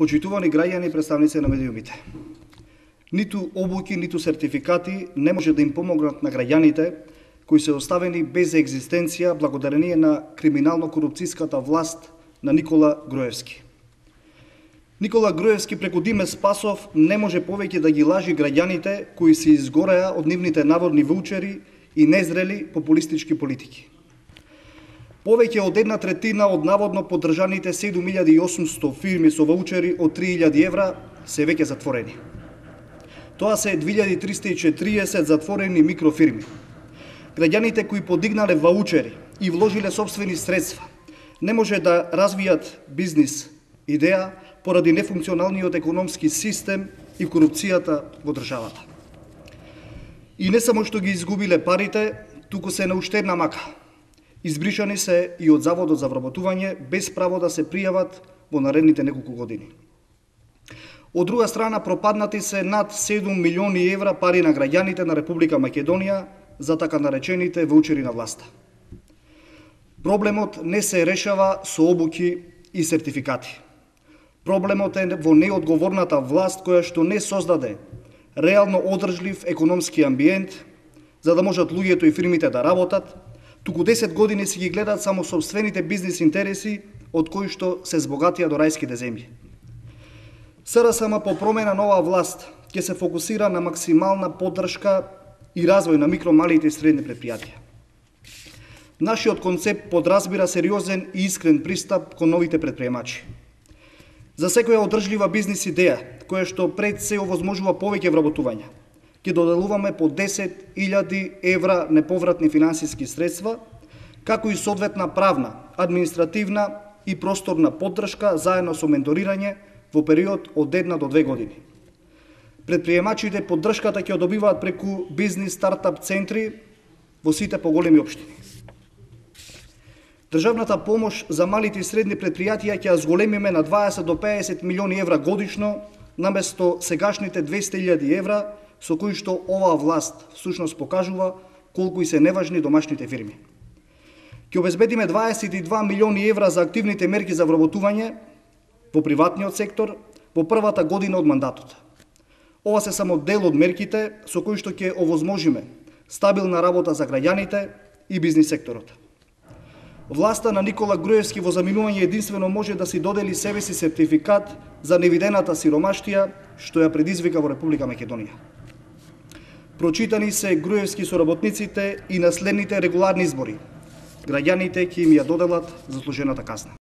Почитувани граѓани и представници на медиумите. Ниту обуки, ниту сертификати не може да им помогнат на граѓаните кои се оставени без екзистенција благодарение на криминално-корупцијската власт на Никола Груевски. Никола Груевски преку Диме Спасов не може повеќе да ги лажи граѓаните кои се изгореа од нивните наводни ваучери и незрели популистички политики. Повеќе од 1/3 од наводно поддржаните 7800 фирми со ваучери од 3000 евра се веќе затворени. Тоа се 2340 затворени микрофирми. Граѓаните кои подигнале ваучери и вложиле сопствени средства не може да развијат бизнис идеја поради нефункционалниот економски систем и корупцијата во државата. И не само што ги изгубиле парите, туку се на уште една мака. Избришани се и од Заводот за вработување без право да се пријават во наредните неколку години. Од друга страна, пропаднати се над 7 милиони евра пари на граѓаните на Република Македонија за така наречените ваучери на власта. Проблемот не се решава со обуки и сертификати. Проблемот е во неодговорната власт која што не создаде реално одржлив економски амбиент за да можат луѓето и фирмите да работат, туку 10 години си ги гледат само сопствените бизнис интереси од кои што се збогатија до рајските земји. СРСМ по промена на оваа власт ќе се фокусира на максимална поддршка и развој на микро, малите и средни предпријатија. Нашиот концепт подразбира сериозен и искрен пристап кон новите предприемачи. За секоја одржлива бизнис идеја, која што пред се овозможува повеќе вработување, ќе доделуваме по 10.000 евра неповратни финансиски средства, како и соодветна правна, административна и просторна поддршка заедно со менторирање во период од 1 до 2 години. Предприемачите поддршката ќе добиваат преку бизнис стартап центри во сите поголеми општини. Државната помош за малите и средни предпријатија ќе ја зголемиме на 20 до 50 милиони евра годишно, наместо сегашните 200.000 евра, со кои што оваа власт всушност покажува колку и се неважни домашните фирми. Ќе обезбедиме 22 милиони евра за активните мерки за вработување во приватниот сектор во првата година од мандатот. Ова се само дел од мерките со кои што ќе овозможиме стабилна работа за граѓаните и бизнис секторот. Власта на Никола Груевски во заминување единствено може да си додели себе си сертификат за невидената сиромаштија што ја предизвика во Република Македонија. Прочитани се Груевски со работниците и на следните регуларни избори. Граѓаните ќе им ја доделат заслужената казна.